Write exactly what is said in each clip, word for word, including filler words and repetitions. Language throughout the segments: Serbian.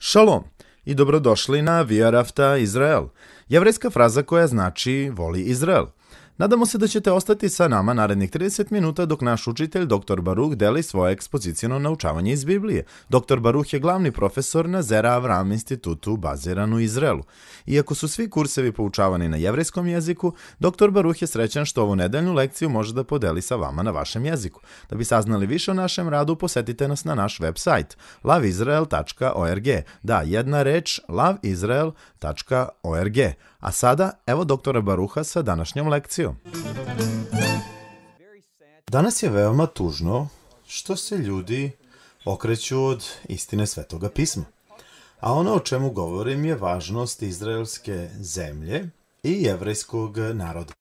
Šalom i dobrodošli na Viarafta Izrael, jevrejska fraza koja znači voli Izrael. Nadamo se da ćete ostati sa nama narednih trideset minuta dok naš učitelj doktor Baruh deli svoje ekspozicijno naučavanje iz Biblije. doktor Baruh je glavni profesor na Zera Avram institutu baziran u Izraelu. Iako su svi kursevi poučavani na jevrejskom jeziku, doktor Baruh je srećan što ovu nedeljnu lekciju može da podeli sa vama na vašem jeziku. Da bi saznali više o našem radu, posetite nas na naš web sajt love israel tačka org. Da, jedna reč love israel tačka org. A sada, evo doktora Baruha sa današnjom lekcijom. Danas je veoma tužno što se ljudi okreću od istine Svetoga pisma. A ono o čemu govorim je važnost izraelske zemlje i jevrejskog naroda.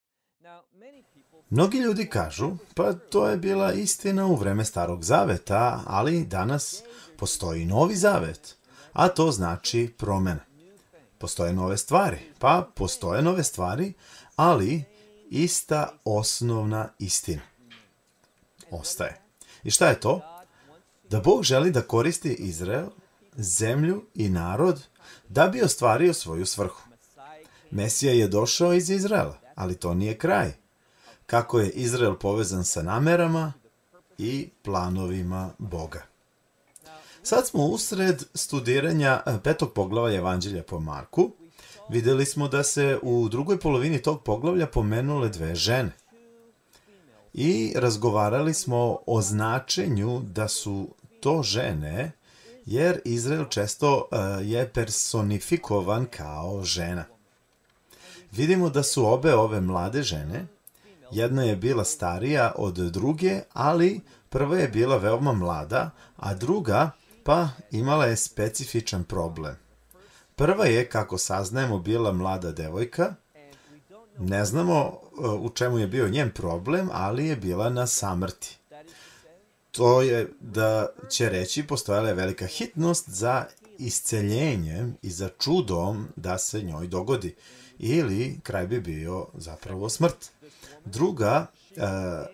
Mnogi ljudi kažu, pa to je bila istina u vreme Starog zaveta, ali danas postoji Novi zavet, a to znači promena. Postoje nove stvari, pa postoje nove stvari, ali ista osnovna istina ostaje. I šta je to? Da Bog želi da koristi Izrael, zemlju i narod da bi ostvario svoju svrhu. Mesija je došao iz Izraela, ali to nije kraj. Kako je Izrael povezan sa namerama i planovima Boga. Sad smo usred studiranja petog poglavlja Evanđelja po Marku. Vidjeli smo da se u drugoj polovini tog poglavlja pomenule dve žene. I razgovarali smo o značenju da su to žene, jer Izrael često je personifikovan kao žena. Vidimo da su obe ove mlade žene, jedna je bila starija od druge, ali prva je bila veoma mlada, a druga pa imala je specifičan problem. Prva je, kako saznajemo, bila mlada devojka. Ne znamo u čemu je bio njen problem, ali je bila na samrti. To je da će reći postojala je velika hitnost za isceljenjem i za čudom da se njoj dogodi. Ili kraj bi bio zapravo smrt. Druga e,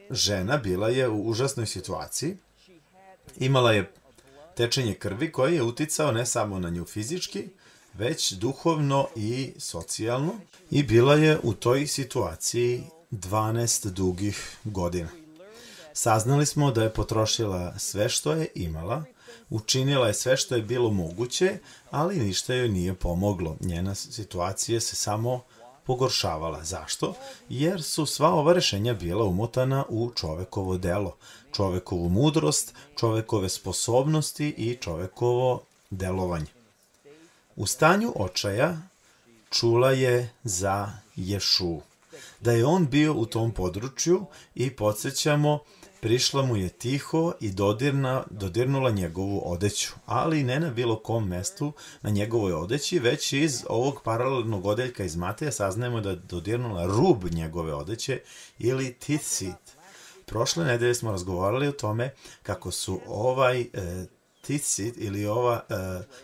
žena bila je u užasnoj situaciji. Imala je tečenje krvi koji je uticao ne samo na nju fizički, već duhovno i socijalno. I bila je u toj situaciji dvanaest dugih godina. Saznali smo da je potrošila sve što je imala, učinila je sve što je bilo moguće, ali ništa joj nije pomoglo. Njena situacija se samo pogoršavala. Zašto? Jer su sva ova rešenja bila umotana u čovekovo delo, čovekovu mudrost, čovekove sposobnosti i čovekovo delovanje. U stanju očaja čula je za Ješu, da je on bio u tom području i podsjećamo, prišla mu je tiho i dodirna, dodirnula njegovu odeću, ali ne na bilo kom mestu na njegovoj odeći, već iz ovog paralelnog odeljka iz Mateja saznajemo da je dodirnula rub njegove odeće ili titsit. Prošle nedelje smo razgovarali o tome kako su ovaj e, titsit ili ova, e,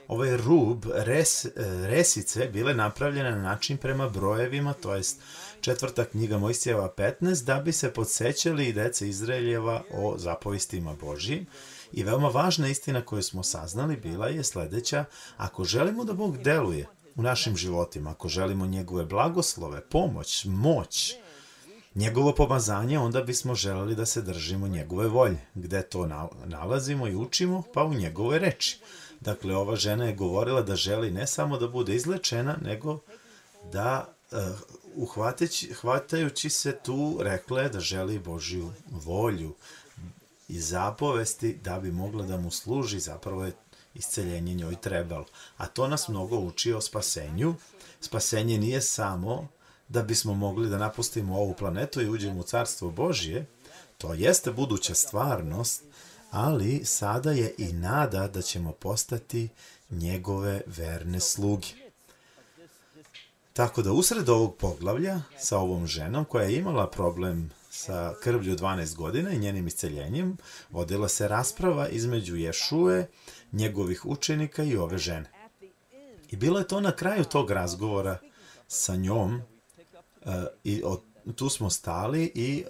ovaj rub res, e, resice bile napravljene na način prema brojevima, to jest četvrta knjiga Mojsijeva petnaest, da bi se podsjećali i deca Izraeljeva o zapovistima Božijim. I veoma važna istina koju smo saznali bila je sledeća: ako želimo da Bog deluje u našim životima, ako želimo njegove blagoslove, pomoć, moć, njegovo pomazanje, onda bismo želeli da se držimo njegove volje. Gde to nalazimo i učimo? Pa u njegovoj reči. Dakle, ova žena je govorila da želi ne samo da bude izlečena, nego da uh, uhvateći, hvatajući se tu rekla je da želi Božju volju i zapovesti da bi mogla da mu služi, zapravo je isceljenje njoj trebalo. A to nas mnogo uči o spasenju. Spasenje nije samo da bismo mogli da napustimo ovu planetu i uđemo u Carstvo Božje. To jeste buduća stvarnost, ali sada je i nada da ćemo postati njegove verne sluge. Tako da usred ovog poglavlja sa ovom ženom koja je imala problem sa krvlju dvanaest godina i njenim isceljenjem, vodila se rasprava između Ješue, njegovih učenika i ove žene. I bilo je to na kraju tog razgovora sa njom, uh, i od, tu smo stali i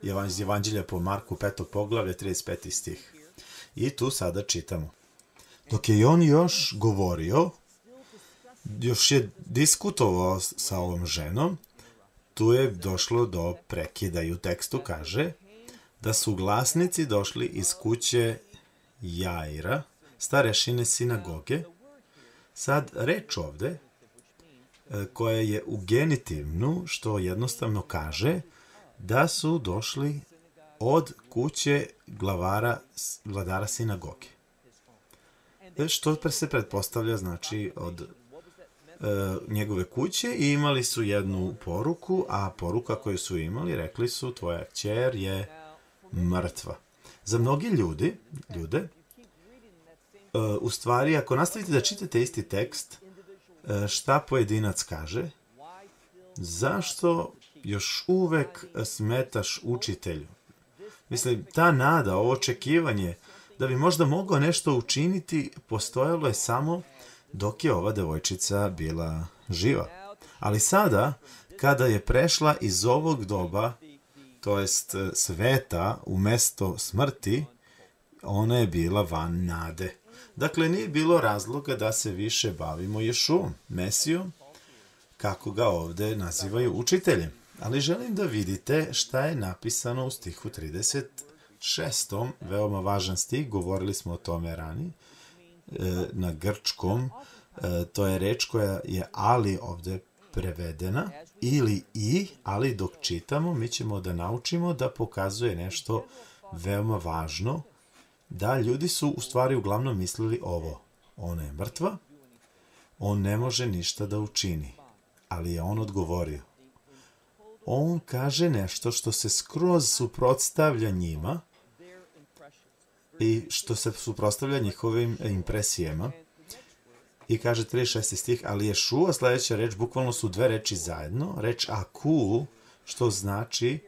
uh, iz Evanđelja po Marku petog poglavlja trideset peti stih. I tu sada čitamo. Dok je on još govorio, još je diskutovao sa ovom ženom, tu je došlo do prekida i u tekstu kaže da su glasnici došli iz kuće Jaira, starešine sinagoge. Sad, reč ovde, koja je u genitivnu, što jednostavno kaže da su došli od kuće glavara, vladara sinagoge. Što se pretpostavlja, znači, od e, njegove kuće i imali su jednu poruku, a poruka koju su imali, rekli su, tvoja kćer je mrtva. Za mnogi ljudi, ljude, e, u stvari, ako nastavite da čitate isti tekst, e, šta pojedinac kaže, zašto još uvek smetaš učitelju? Mislim, ta nada, ovo očekivanje, da bi možda mogao nešto učiniti, postojalo je samo dok je ova devojčica bila živa. Ali sada, kada je prešla iz ovog doba, to jest sveta, u mesto smrti, ona je bila van nade. Dakle, nije bilo razloga da se više bavimo Ješuom, Mesijom, kako ga ovde nazivaju učiteljem. Ali želim da vidite šta je napisano u stihu trideset šestom, veoma važan stih, govorili smo o tome ranije, na grčkom, to je reč koja je ali ovde prevedena, ili i, ali dok čitamo, mi ćemo da naučimo da pokazuje nešto veoma važno, da ljudi su u stvari uglavnom mislili ovo, ona je mrtva, on ne može ništa da učini, ali je on odgovorio. On kaže nešto što se skroz suprotstavlja njima i što se suprotstavlja njihovim impresijama. I kaže trideset šesti stih, ali Ješua, sledeća reč, bukvalno su dve reči zajedno. Reč aku, što znači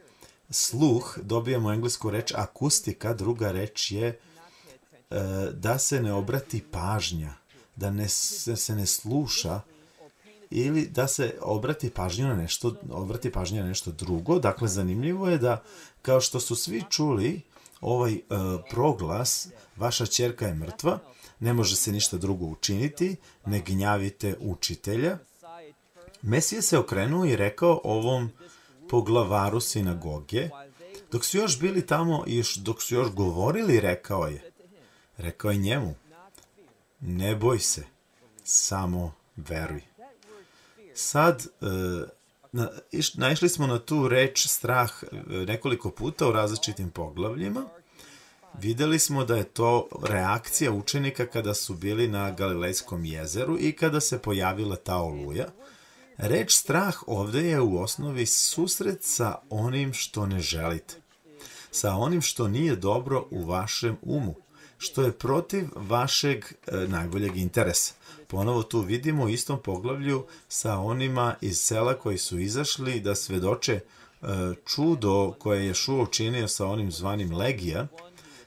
sluh, dobijamo englesku reč akustika, druga reč je e, da se ne obrati pažnja, da ne, se ne sluša, ili da se obrati pažnju na nešto, obrati pažnju na nešto drugo. Dakle, zanimljivo je da, kao što su svi čuli ovaj uh, proglas, vaša ćerka je mrtva, ne može se ništa drugo učiniti, ne gnjavite učitelja. Mesija se okrenuo i rekao ovom poglavaru sinagoge, dok su još bili tamo i još, dok su još govorili, rekao je, rekao je njemu, ne boj se, samo veruj. Sad, naišli smo na tu reč strah nekoliko puta u različitim poglavljima. Videli smo da je to reakcija učenika kada su bili na Galilejskom jezeru i kada se pojavila ta oluja. Reč strah ovde je u osnovi susret sa onim što ne želite, sa onim što nije dobro u vašem umu, što je protiv vašeg e, najboljeg interesa. Ponovo tu vidimo u istom poglavlju sa onima iz sela koji su izašli da svedoče e, čudo koje je Ješua učinio sa onim zvanim Legija,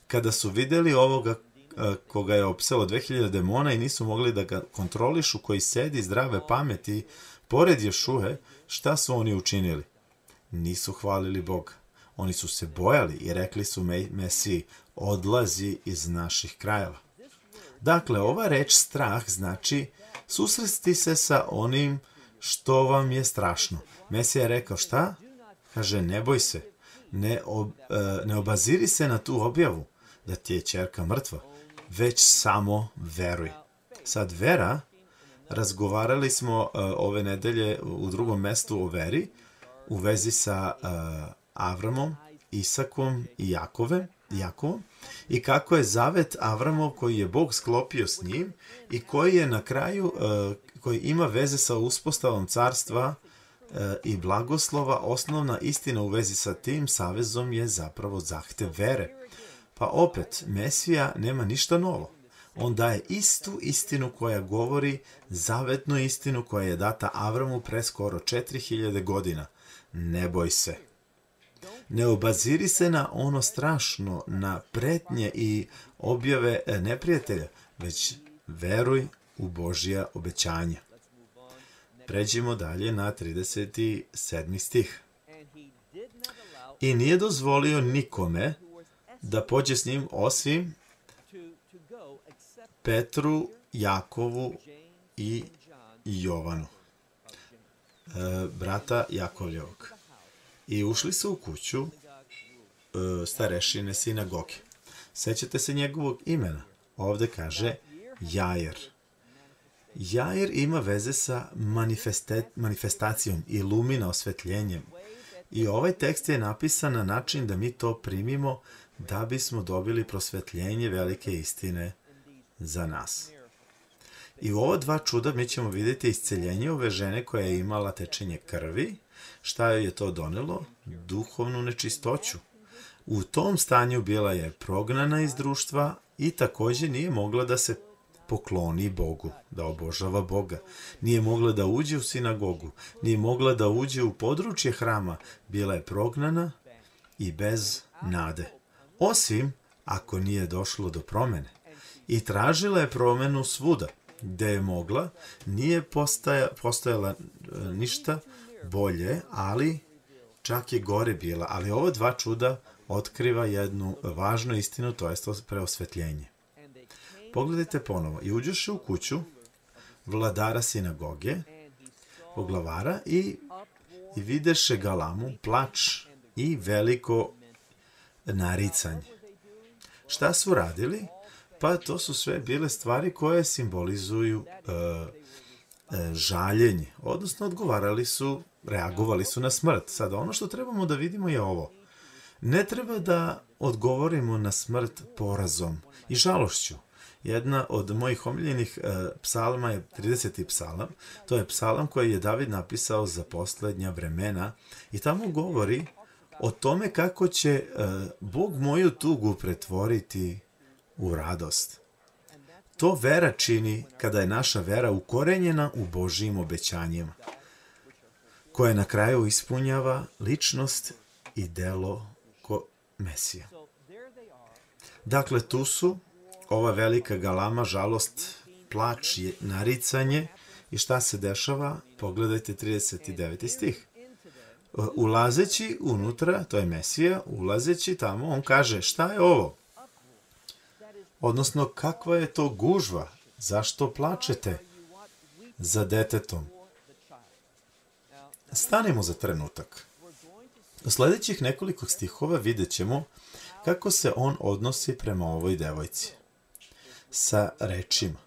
kada su videli ovoga e, koga je opselo dve hiljade demona i nisu mogli da ga kontrolišu, koji sedi zdrave pameti pored Ješue, šta su oni učinili? Nisu hvalili Boga. Oni su se bojali i rekli su Mesiji, odlazi iz naših krajeva. Dakle, ova reč strah znači susresti se sa onim što vam je strašno. Mesija je rekao šta? Kaže, ne boj se, ne, ob, ne obaziri se na tu objavu da ti je ćerka mrtva, već samo veruj. Sad, vera, razgovarali smo uh, ove nedelje u drugom mestu o veri, u vezi sa uh, Avramom, Isakom i Jakove, Jakovom, i kako je zavet Avramov koji je Bog sklopio s njim i koji je na kraju, uh, koji ima veze sa uspostavom carstva uh, i blagoslova, osnovna istina u vezi sa tim savezom je zapravo zahtev vere. Pa opet, Mesija nema ništa novo. On daje istu istinu koja govori, zavetnu istinu koja je data Avramu pre skoro četiri hiljade godina. Ne boj se. Ne obaziri se na ono strašno, na pretnje i objave neprijatelja, već veruj u Božja obećanja. Pređimo dalje na trideset sedmi stih. I nije dozvolio nikome da pođe s njim osim Petru, Jakovu i Jovanu, e, brata Jakovljevog. I ušli su u kuću e, starešine sinagoge. Sećate se njegovog imena? Ovde kaže Jair. Jair ima veze sa manifestacijom, ilumina, osvetljenjem. I ovaj tekst je napisan na način da mi to primimo da bismo dobili prosvetljenje velike istine za nas. I u ova dva čuda mi ćemo vidjeti isceljenje ove žene koja je imala tečenje krvi. Šta joj je to donelo? Duhovnu nečistoću. U tom stanju bila je prognana iz društva i također nije mogla da se pokloni Bogu, da obožava Boga. Nije mogla da uđe u sinagogu, nije mogla da uđe u područje hrama. Bila je prognana i bez nade. Osim ako nije došlo do promene. I tražila je promenu svuda. Gde je mogla, nije postaja, postojala ništa bolje, ali čak je gore bila. Ali ova dva čuda otkriva jednu važnu istinu, to je preosvetljenje. Pogledajte ponovo. I uđeše u kuću vladara sinagoge, poglavara, i, i videše galamu, plač i veliko naricanje. Šta su radili? Pa to su sve bile stvari koje simbolizuju e, e, žaljenje, odnosno odgovarali su, reagovali su na smrt. Sada ono što trebamo da vidimo je ovo. Ne treba da odgovorimo na smrt porazom i žalošću. Jedna od mojih omiljenih e, psalma je trideseti psalam. To je psalam koji je David napisao za poslednja vremena i tamo govori o tome kako će e, Bog moju tugu pretvoriti u radost. To vera čini kada je naša vera ukorenjena u Božijim obećanjima, koje na kraju ispunjava ličnost i delo ko Mesija. Dakle, tu su ova velika galama, žalost, plač, naricanje i šta se dešava? Pogledajte trideset deveti stih. Ulazeći unutra, to je Mesija, ulazeći tamo, on kaže, šta je ovo? Odnosno, kakva je to gužva? Zašto plačete za detetom? Stanimo za trenutak. U sljedećih nekoliko stihova vidjet ćemo kako se on odnosi prema ovoj devojci. Sa rečima.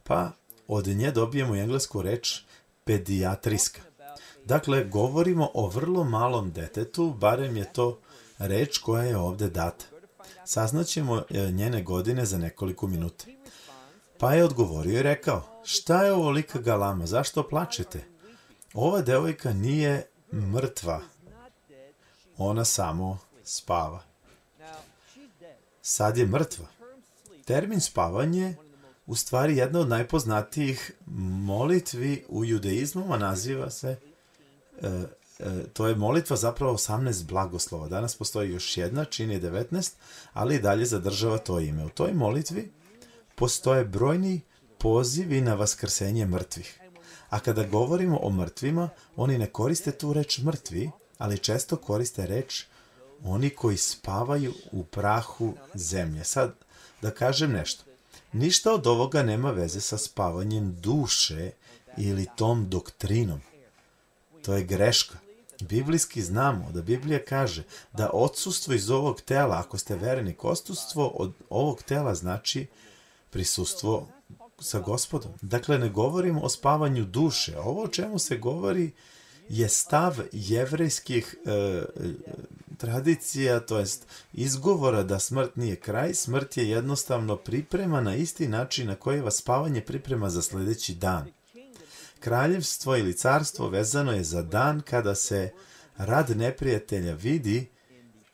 Pa od nje dobijemo englesku reč pedijatrijska. Dakle, govorimo o vrlo malom detetu, barem je to reč koja je ovde data. Saznaćemo njene godine za nekoliko minuta. Pa je odgovorio i rekao, šta je ovolika galama, zašto plačete? Ova devojka nije mrtva, ona samo spava. Sad je mrtva. Termin spavanje u stvari jedna od najpoznatijih molitvi u judeizmu, a naziva se, e, e, to je molitva zapravo osamnaest blagoslova. Danas postoji još jedna, čini devetnaest, ali i dalje zadržava to ime. U toj molitvi postoje brojni pozivi na vaskrsenje mrtvih. A kada govorimo o mrtvima, oni ne koriste tu reč mrtvi, ali često koriste reč oni koji spavaju u prahu zemlje. Sad, da kažem nešto. Ništa od ovoga nema veze sa spavanjem duše ili tom doktrinom. To je greška. Biblijski znamo da Biblija kaže da odsustvo iz ovog tela, ako ste vernik, odsustvo od ovog tela znači prisustvo sa Gospodom. Dakle, ne govorimo o spavanju duše. Ovo o čemu se govori je stav jevrejskih e, tradicija, to jest izgovora da smrt nije kraj. Smrt je jednostavno priprema na isti način na koji vas spavanje priprema za sljedeći dan. Kraljevstvo ili carstvo vezano je za dan kada se rad neprijatelja vidi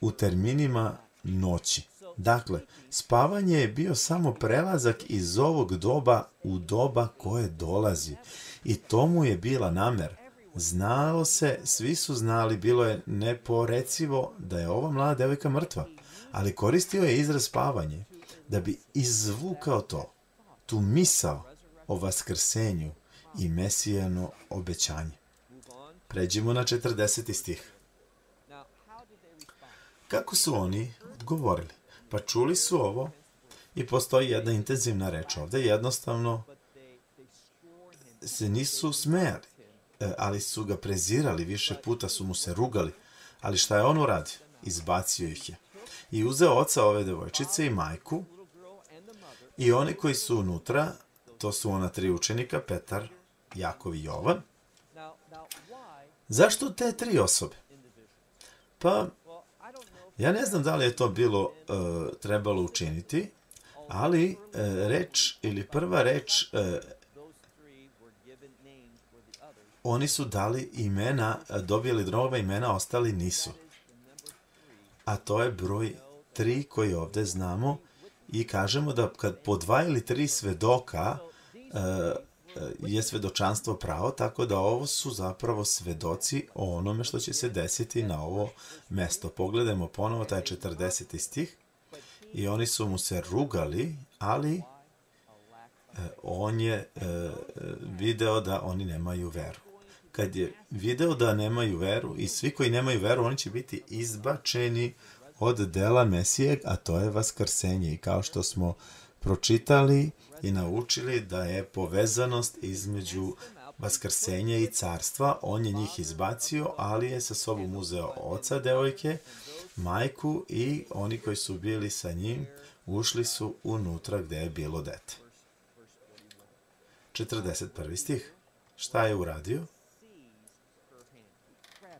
u terminima noći. Dakle, spavanje je bio samo prelazak iz ovog doba u doba koje dolazi. I tomu je bila namera. Znalo se, svi su znali, bilo je neporecivo da je ova mlada devojka mrtva, ali koristio je izraz spavanje da bi izvukao to, tu misao o vaskrsenju i mesijano obećanje. Pređimo na četrdeseti stih. Kako su oni odgovorili? Pa čuli su ovo I postoji jedna intenzivna reč ovde, jednostavno se nisu smejali, ali su ga prezirali, više puta su mu se rugali. Ali šta je on uradio? Izbacio ih je. I uzeo oca ove devojčice i majku i oni koji su unutra, to su ona tri učenika, Petar, Jakov i Jovan. Zašto te tri osobe? Pa, ja ne znam da li je to bilo uh, trebalo učiniti, ali uh, reč ili prva reč, uh, oni su dali imena, dobili nova imena, ostali nisu. A to je broj tri koji ovde znamo i kažemo da kad po dva ili tri svedoka uh, je svedočanstvo pravo, tako da ovo su zapravo svedoci o onome što će se desiti na ovo mesto. Pogledajmo ponovo taj četrdeseti stih i oni su mu se rugali, ali on je video da oni nemaju veru. Kad je video da nemaju veru i svi koji nemaju veru, oni će biti izbačeni od dela Mesije, a to je vaskrsenje. I kao što smo pročitali i naučili da je povezanost između vaskrsenja i carstva, on je njih izbacio, ali je sa sobom uzeo oca devojke, majku i oni koji su bili sa njim ušli su unutra gde je bilo dete. četrdeset prvi stih. Šta je uradio?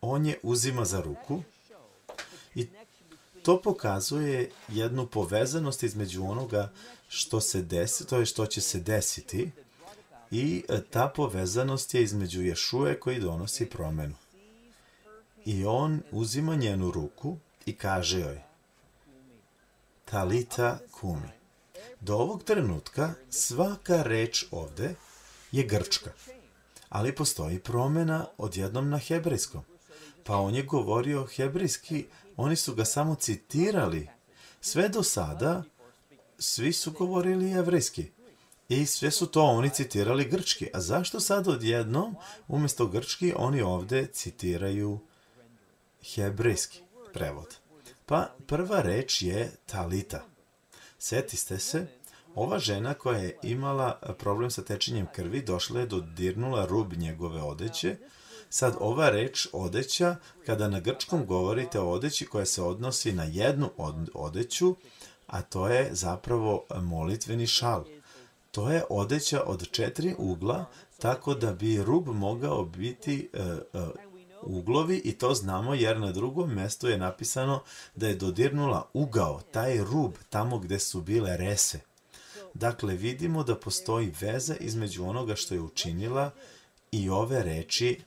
On je uzima za ruku i to pokazuje jednu povezanost između onoga što se desi, to je što će se desiti, i ta povezanost je između Ješuje koji donosi promenu. I on uzima njenu ruku i kaže joj: Talita kumi. Do ovog trenutka svaka reč ovde je grčka, ali postoji promena odjednom na hebrejskom. Pa on je govorio hebrejski, oni su ga samo citirali. Sve do sada svi su govorili jevrejski i sve su to oni citirali grčki. A zašto sad odjednom umjesto grčki oni ovde citiraju hebrejski prevod? Pa prva reč je talita. Setiste se, ova žena koja je imala problem sa tečenjem krvi došla je dodirnula rub njegove odeće. Sad ova reč odeća, kada na grčkom govorite o odeći koja se odnosi na jednu odeću, a to je zapravo molitveni šal. To je odeća od četiri ugla, tako da bi rub mogao biti uh, uh, uglovi, i to znamo jer na drugom mestu je napisano da je dodirnula ugao, taj rub, tamo gde su bile rese. Dakle, vidimo da postoji veza između onoga što je učinila i ove reči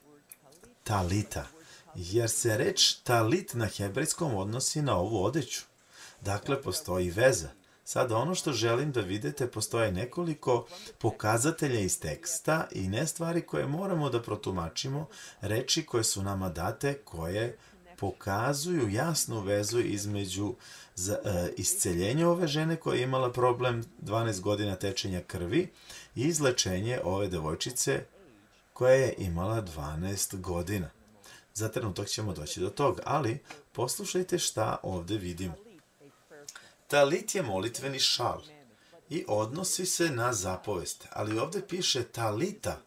talita, jer se reč talit na hebrejskom odnosi na ovu odeću. Dakle, postoji veza. Sada, ono što želim da vidite, postoje nekoliko pokazatelja iz teksta i ne stvari koje moramo da protumačimo, reči koje su nama date, koje pokazuju jasnu vezu između za, e, isceljenja ove žene koja je imala problem dvanaest godina tečenja krvi i izlečenje ove devojčice koja je imala dvanaest godina. Za trenutak ćemo doći do toga, ali poslušajte šta ovde vidimo. Talit je molitveni šal i odnosi se na zapovest, ali ovde piše talita.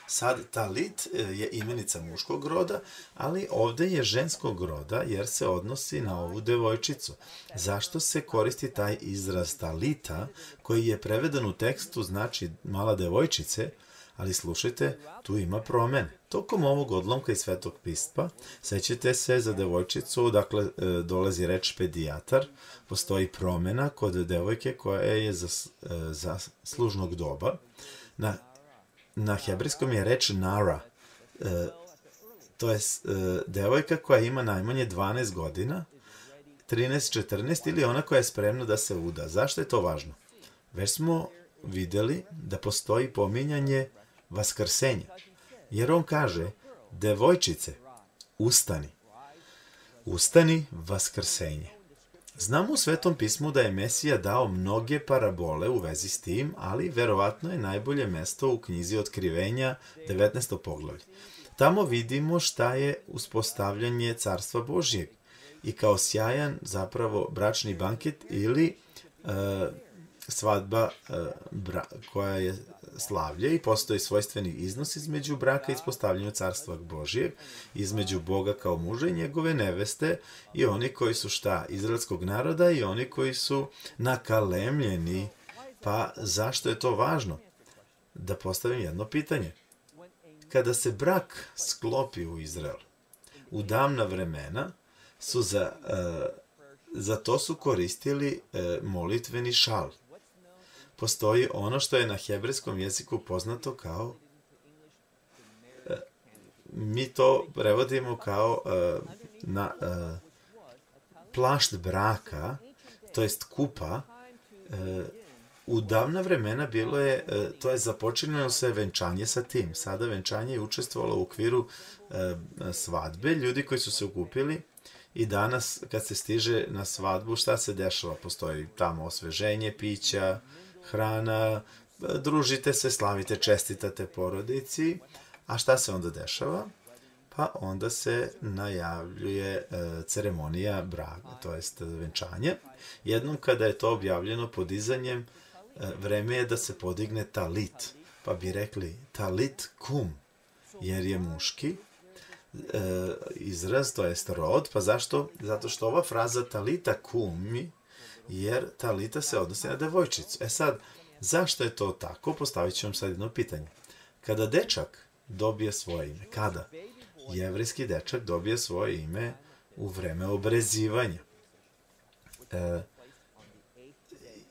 Sad, talit je imenica muškog roda, ali ovde je ženskog roda jer se odnosi na ovu devojčicu. Zašto se koristi taj izraz talita, koji je preveden u tekstu znači mala devojčice, ali slušajte, tu ima promene. Tokom ovog odlomka iz Svetog pisma, sećate se za devojčicu, dakle, dolazi reč pedijatar, postoji promena kod devojke koja je za, za služnog doba. Na, na hebrejskom je reč nara, to je devojka koja ima najmanje dvanaest godina, trinaest četrnaest, ili ona koja je spremna da se uda. Zašto je to važno? Već smo videli da postoji pominjanje vaskrsenja. Jer on kaže, devojčice, ustani. Ustani, vaskrsenje. Znamo u Svetom pismu da je Mesija dao mnoge parabole u vezi s tim, ali verovatno je najbolje mesto u knjizi Otkrivenja, devetnaesto poglavlje. Tamo vidimo šta je uspostavljanje Carstva Božjeg i kao sjajan zapravo bračni banket ili uh, svadba koja je slavlje i postoji svojstveni iznos između braka i ispostavljanja carstva Božijeg, između Boga kao muža i njegove neveste i oni koji su šta? Izraelskog naroda i oni koji su nakalemljeni. Pa zašto je to važno? Da postavim jedno pitanje. Kada se brak sklopi u Izrael, u davna vremena su za, za to su koristili molitveni šal. Postoji ono što je na hebrejskom jeziku poznato kao, mi to prevodimo kao na plašt braka, to jest kupa. U davna vremena bilo je, to je započinjeno se venčanje sa tim. Sada venčanje je učestvovalo u okviru svadbe, ljudi koji su se okupili i danas kad se stiže na svadbu, šta se dešava? Postoji tamo osveženje, pića, hrana, družite se, slavite, čestitate porodici, a šta se onda dešava? Pa onda se najavljuje ceremonija braka, to jest venčanje. Jednom kada je to objavljeno podizanjem, vreme je da se podigne talit, pa bi rekli talit kum, jer je muški izraz, to jest rod, pa zašto? Zato što ova fraza talita kumi, jer talita se odnosi na devojčicu. E sad, zašto je to tako? Postavit ću vam sad jedno pitanje. Kada dečak dobije svoje ime, kada? Jevrejski dečak dobije svoje ime u vreme obrezivanja. E,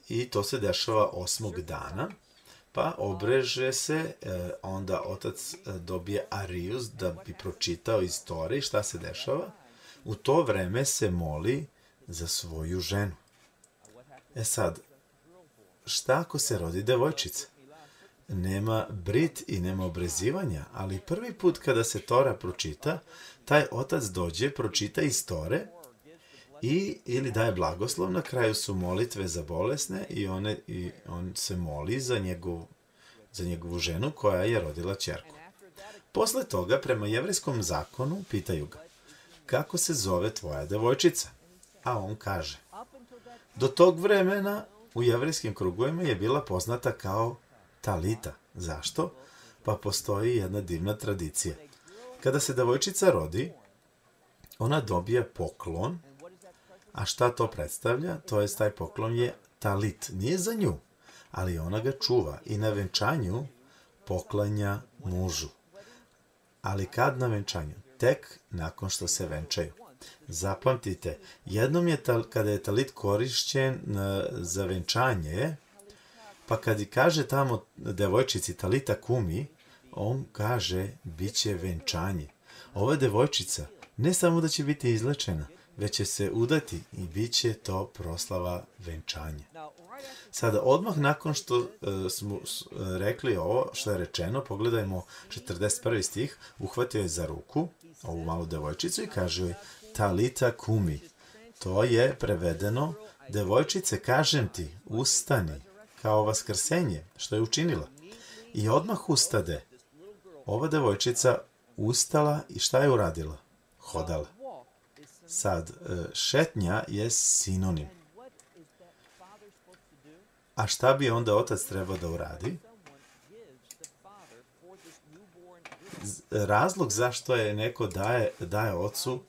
I to se dešava osmog dana, pa obreže se, e, onda otac dobije arijus da bi pročitao iz Tore. Šta se dešava? U to vreme se moli za svoju ženu. E sad, šta ako se rodi devojčica? Nema brit i nema obrezivanja, ali prvi put kada se Tora pročita, taj otac dođe, pročita iz Tore i ili daje blagoslov, na kraju su molitve za bolesne i, one, i on se moli za, njegov, za njegovu ženu koja je rodila ćerku. Posle toga, prema jevrejskom zakonu, pitaju ga, kako se zove tvoja devojčica? A on kaže, do tog vremena u jevrejskim krugovima je bila poznata kao talita. Zašto? Pa postoji jedna divna tradicija. Kada se devojčica rodi, ona dobija poklon, a šta to predstavlja? To je, taj poklon je talit. Nije za nju, ali ona ga čuva i na venčanju poklanja mužu. Ali kad na venčanju? Tek nakon što se venčaju. Zapamtite, jednom je, kada je talit korišćen za venčanje, pa kad kaže tamo devojčici talita kumi, on kaže bit će venčanje. Ova devojčica ne samo da će biti izlečena, već će se udati i bit će to proslava venčanja. Sada, odmah nakon što uh, smo rekli ovo što je rečeno, pogledajmo četrdeset prvi stih, uhvatio je za ruku ovu malu devojčicu i kaže joj talita kumi. To je prevedeno, devojčice, kažem ti, ustani, kao vaskrsenje, što je učinila. I odmah ustade. Ova devojčica ustala i šta je uradila? Hodala. Sad, šetnja je sinonim. A šta bi onda otac trebao da uradi? Razlog zašto je neko daje, daje ocu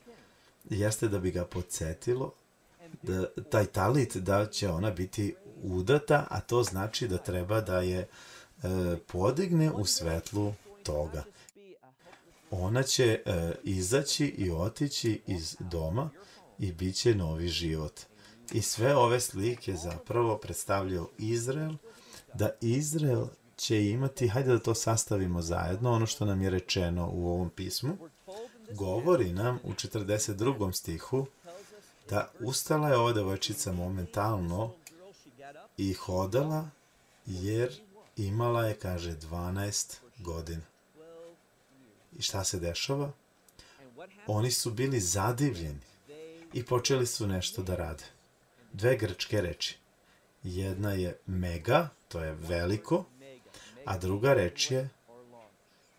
jeste da bi ga podsjetilo da taj talit da će ona biti udata, a to znači da treba da je e, podigne u svetlu toga. Ona će e, izaći i otići iz doma i bit će novi život. I sve ove slike zapravo predstavljaju Izrael, da Izrael će imati, hajde da to sastavimo zajedno, ono što nam je rečeno u ovom pismu, govori nam u četrdeset drugom stihu da ustala je ova devojčica momentalno i hodala, jer imala je, kaže, dvanaest godina. I šta se dešava? Oni su bili zadivljeni i počeli su nešto da rade. Dve grčke reči. Jedna je mega, to je veliko, a druga reč je,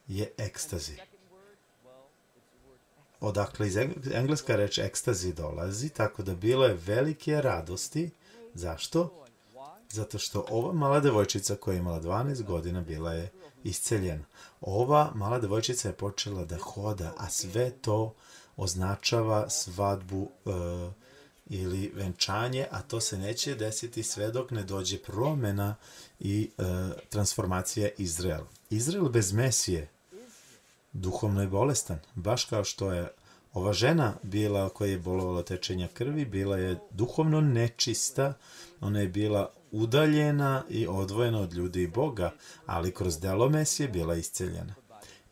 je ekstazi. Odakle iz engleska reč ekstazi dolazi, tako da bilo je velike radosti. Zašto? Zato što ova mala devojčica koja je imala dvanaest godina bila je isceljena. Ova mala devojčica je počela da hoda, a sve to označava svadbu e, ili venčanje, a to se neće desiti sve dok ne dođe promena i e, transformacija Izraela. Izrael bez Mesije duhovno je bolestan, baš kao što je ova žena bila koja je bolovala tečenja krvi, bila je duhovno nečista, ona je bila udaljena i odvojena od ljudi i Boga, ali kroz delo Mesije bila isceljena.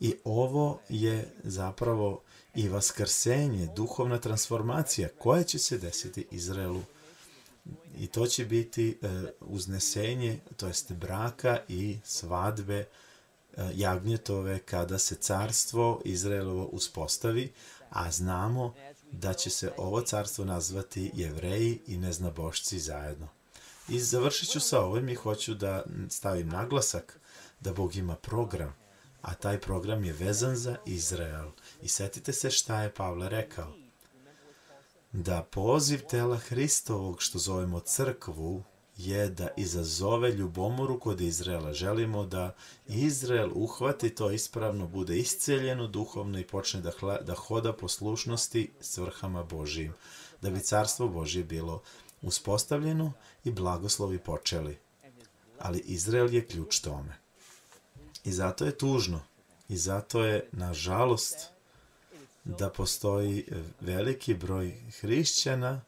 I ovo je zapravo i vaskrsenje, duhovna transformacija koja će se desiti Izraelu. I to će biti e, uznesenje, to jest braka i svadbe e, jagnjetove kada se carstvo Izraelovo uspostavi, a znamo da će se ovo carstvo nazvati Jevreji i neznabošci zajedno. I završit ću sa ovim i hoću da stavim naglasak da Bog ima program, a taj program je vezan za Izrael. I setite se šta je Pavle rekao. Da poziv tela Hristovog, što zovemo crkvu, je da izazove ljubomoru kod Izraela. Želimo da Izrael uhvati to ispravno, bude isceljeno duhovno i počne da, hla, da hoda poslušnosti svrhama Božijim. Da bi carstvo Božije bilo uspostavljeno i blagoslovi počeli. Ali Izrael je ključ tome. I zato je tužno i zato je, nažalost, da postoji veliki broj hrišćana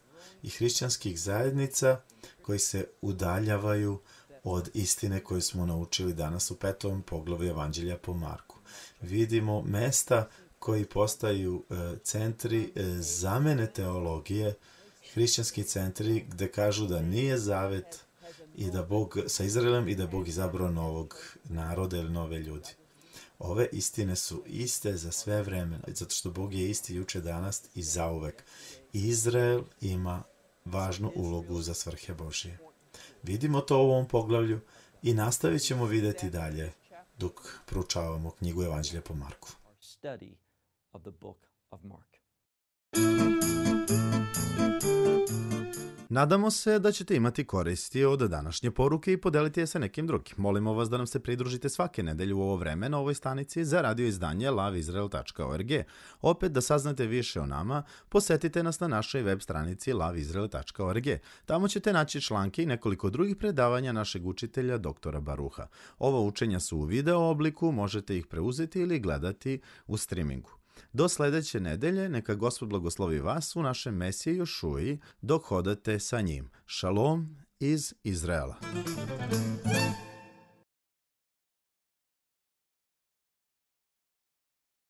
i hrišćanskih zajednica koji se udaljavaju od istine koju smo naučili danas u petom poglavlju Evanđelja po Marku. Vidimo mesta koji postaju centri zamene teologije, hrišćanski centri gde kažu da nije zavet i da Bog sa Izraelom i da Bog izabrao novog naroda ili nove ljudi. Ove istine su iste za sve vremena, zato što Bog je isti juče, danas i zauvek. Izrael ima važnu ulogu za svrhe Božije. Vidimo to u ovom poglavlju i nastavit ćemo videti dalje dok proučavamo knjigu Evanđelja po Marku. Nadamo se da ćete imati koristi od današnje poruke i podeliti je sa nekim drugim. Molimo vas da nam se pridružite svake nedelje u ovo vreme na ovoj stanici za radio izdanje lav izrael tačka org. Opet, da saznate više o nama, posetite nas na našoj web stranici lav izrael tačka org. Tamo ćete naći članke i nekoliko drugih predavanja našeg učitelja doktora Baruha. Ova učenja su u video obliku, možete ih preuzeti ili gledati u streamingu. Do sledeće nedelje, neka Gospod blagoslovi vas u našem Mesiji Jošuji dok hodate sa njim. Šalom iz Izraela.